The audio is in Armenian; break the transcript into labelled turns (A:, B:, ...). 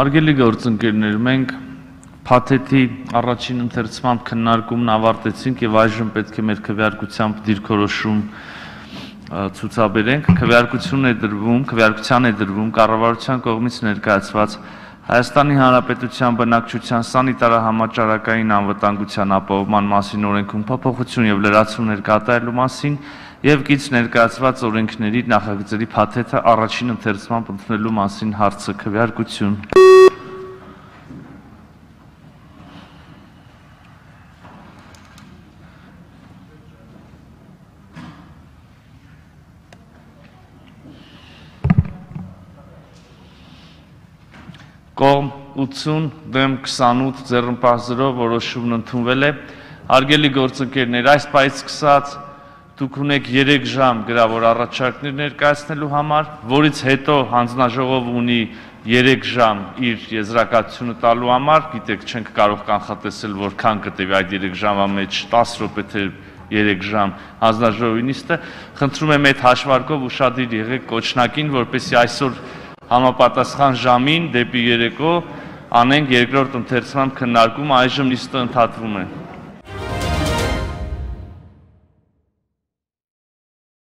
A: Արգելի գործընկերներ, մենք փաթեթի առաջին ընթերցման քննարկումն ավարտեցինք եւ այժմ պետք է մեր քվեարկությամբ դիրքորոշում ցուցաբերենք։ Քվեարկության է դրվում կառավարության կողմից ներկայացված Հայաստանի Հանրապետության բնակչության սանիտարահամաճարակային անվտանգության ապահովման մասին օրենքում փոփոխություն եւ լրացումներ կատարելու մասին եւ գից ներկայացված օրենքների նախագծերի փաթեթը առաջին ընթերցմամբ ընդունելու մասին հարցը քվեարկություն։ Կողմ 80 դեմ 28 ձեռնպահ 0 որոշումն ընդունվել է։ Հարգելի գործընկերներ, այս պահից սկսած դուք ունեք 3 ժամ գրավոր առաջարկներ ներկայացնելու համար, որից հետո հանձնաժողովը ունի 3 ժամ իր եզրակացությունը տալու համար, գիտեք, չենք կարող կանխատեսել որքան կտևի այդ 3 ժամվա մեջ 10 րոպե թե 3 ժամ հանձնաժողովի նիստը, խնդրում եմ այդ հաշվարկով ուշադիր եղեք կոչնակին, որպեսզի այսօր համապատասխան ժամին դեպի երեկո անենք երկրորդ ընթերցման քննարկումը, այժմ նիստը ընդհատվում է։